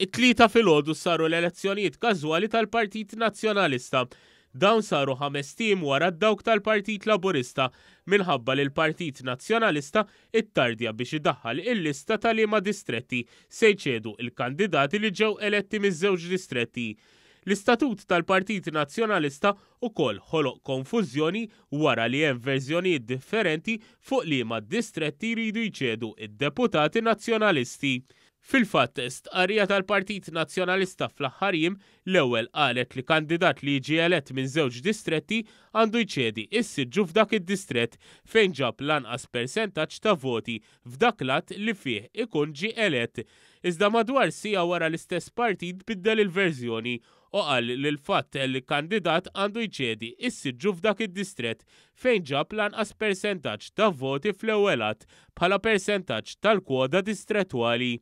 It-Tlieta filgħodu saru l-elezzjonijiet każwali tal-Partit Nazzjonalista. Dawn saru ħamest ijiem wara dawk tal-Partit Laburista minħabba li l-Partit Nazzjonalista ttardja biex idaħħal il-lista ta' liema distretti se jċedu l-kandidati li ġew eletti miż-żewġ distretti. L-istatut tal-Partit Nazzjonalista ukoll ħoloq konfużjoni wara li hemm verżjonijiet differenti fuq liema distretti jridu jċedu d-deputati Nazzjonalisti. Fil-fatt, stqarrija tal-Partit Nazzjonalista fl-aħħar jiem l-ewwel qalet li kandidat li jiġi elett minn żewġ distretti għandu jċedi s-siġġu f'dak id-distrett fejn ġab l-anqas persentaġġ ta' voti f'dak l-att li fih ikun ġie elett. Iżda madwar siegħa wara l-istess partit biddel il-verżjoni u qal li l-fatt li kandidat għandu jċedi s-siġġu f'dak id-distrett fejn ġab l-anqas persentaġġ ta' voti fl-ewwel għadd bħala persentaġġ tal-kwoda distrettwali.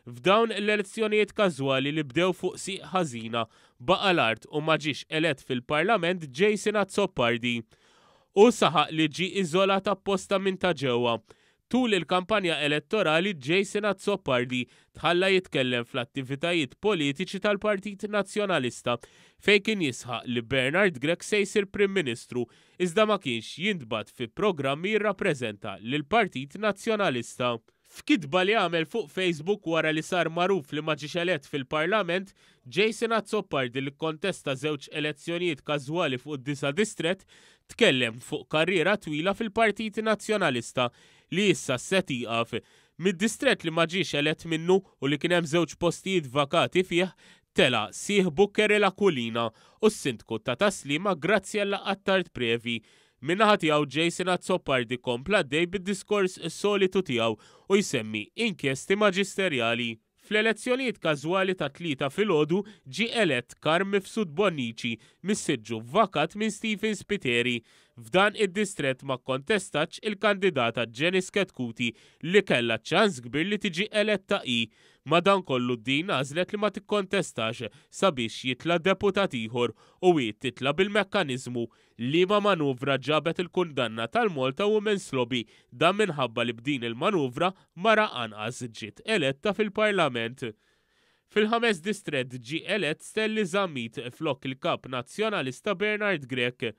F'dawn l-elezzjonijiet każwali li bdew fuq sieq ħażina, baqa' l-art u ma ġiex elett fil-Parlament Jason Azzopardi. Hu saħaq li ġie iżolat apposta minn ta' ġewwa. Tul il-kampanja elettorali Jason Azzopardi tħalla jitkellem fl-attivitajiet politiċi tal-Partit Nazzjonalista fejn kien jisħaq li Bernard Grech se jsir Prim Ministru iżda ma kienx jintbagħat fi programmi jirrappreżenta lill-Partit Nazzjonalista. F'kitba li għamel fuq Facebook wara li sar magħruf li ma ġiex elett fil-Parlament, Jason Azzopardi li kkontesta żewġ elezzjonijiet każwali fuq id-disa' distrett tkellem fuq karriera twila fil-Partit Nazzjonalista li issa se tieqaf. Mid-distrett li ma ġiex elett minnu u li kien hemm żewġ postijiet vakati fih, tela' sieħbu Keril Aquilina u s-Sindku ta' Tas-Sliema Graziella Attard Previ. Min-naħa tiegħu Jason Azzopardi kompla għaddej bid-diskors solitu tiegħu u jsemmi inkjesti maġisterjali. Fl-elezzjonijiet każwali tat-Tlieta filgħodu ġie elett Carm Mifsud Bonnici mis-siġġu vakat minn Stephen Spiteri. F'dan id-distrett ma kkontestatx il-kandidata Janice Chetcuti li kellha ċans kbir li tiġi eletta hi. Madankollu din għażlet li ma tikkontestax sabiex jitla' deputat ieħor u hi titla' bil-mekkaniżmu Liema manuvra ġabet il-kundanna tal-Malta Women's Lobby, dan minħabba li b'din il-manuvra mara anqas ġiet eletta fil-Parlament. Fil-ħames distrett ġie elett Stanley Zammit flok il-Kap Nazzjonalista Bernard Grech.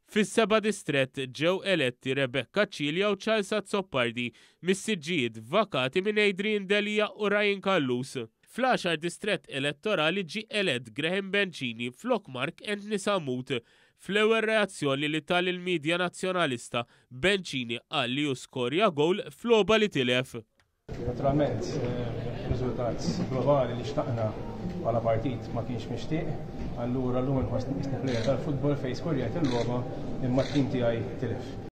Fis-seba' distrett ġew eletti Rebecca Cilia u Charles Azzopardi mis-siġġijiet vakati minn Adrian Delia u Ryan Callus. Fl-għaxar distrett elettorali ġie elett Graham Bencini flok Mark Anthony Sammut. Fl-ewwel reazzjoni li ta lill-midja Nazzjonalista, Bencini qal li hu skorja gowl f'logħba li tilef. Naturalment, riżultat globali li xtaqna bħala partit ma kienx mixtieq, allura llum inħossni qisni plejer tal-futbol fejn skorjajt il-logħba imma t-tim tiegħi tilef.